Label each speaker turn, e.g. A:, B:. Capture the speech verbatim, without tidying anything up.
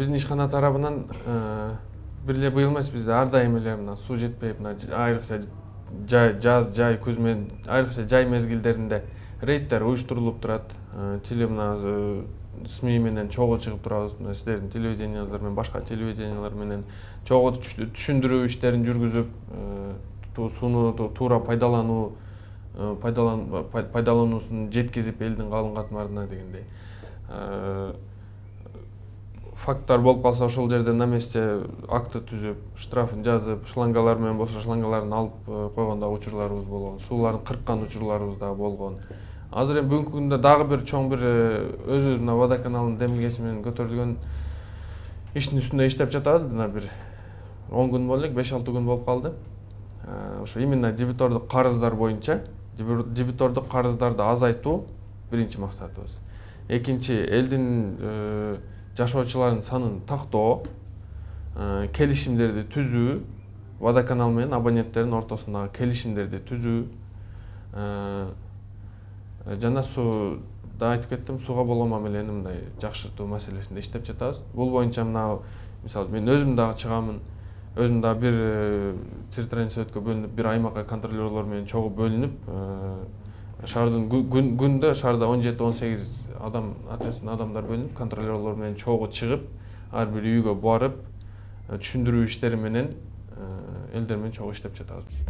A: биздин ишкана тарабынан бир эле быйыл эмес, бизде ар дайым эле мына суу жетпей, мына айрыкча жаз, жай, күз менен айрыкча жай мезгилдеринде рейдтер уюштурулуп турат. Теле мына СМИ менен чогуу чыгып турабыз. Мына сиздердин телевидениялар менен, башка телевидениялар менен чогуу түшүндүрүү иштерин жүргүзүп, сууну туура пайдалануу, пайдалануусун жеткизип элдин калың катмарына дегендей. Факттар болуп калса ошол жерде на месте акты түзүп, штрафын жазып, шлангалар менен болсо шлангаларын алып койгон да учурларыбыз болгон, сууларын кырккан учурларыбыз да болгон. Азыр эми бүгүнкү күндө дагы бир чоң бир өзү мына водоканалдын демилгеси менен көтөрүлгөн иштин үстүндө иштеп жатабыз. Мына бир он күн болду элек, беш алты күн болуп калды. Ошо именно дебитордук карыздар боюнча, дебитордук карыздарды азайтуу биринчи максатыбыз. Экинчи, элдин жашоочулардын санын тактоо, келишимдерди түзүү, водоканал менен абоненттердин ортосундагы келишимдерди түзүү, жана сууда айтып кеттим, сууга болгон мамилени мындай жакшыртуу маселесинде иштеп жатабыз. Бул боюнча мына мисалы мен өзүм дагы чыгамын, өзүм дагы бир территориальный советке бөлүнүп, бир аймакка контролерлор менен чогуу бөлүнүп, шаардын күндө шаарда он жети он сегиз адам, ответственный адамдар бөлүнүп, контролерлор менен чогуу чыгып, ар бир үйгө барып, түшүндүрүү иштери менен элдер менен чогуу иштеп жатабыз.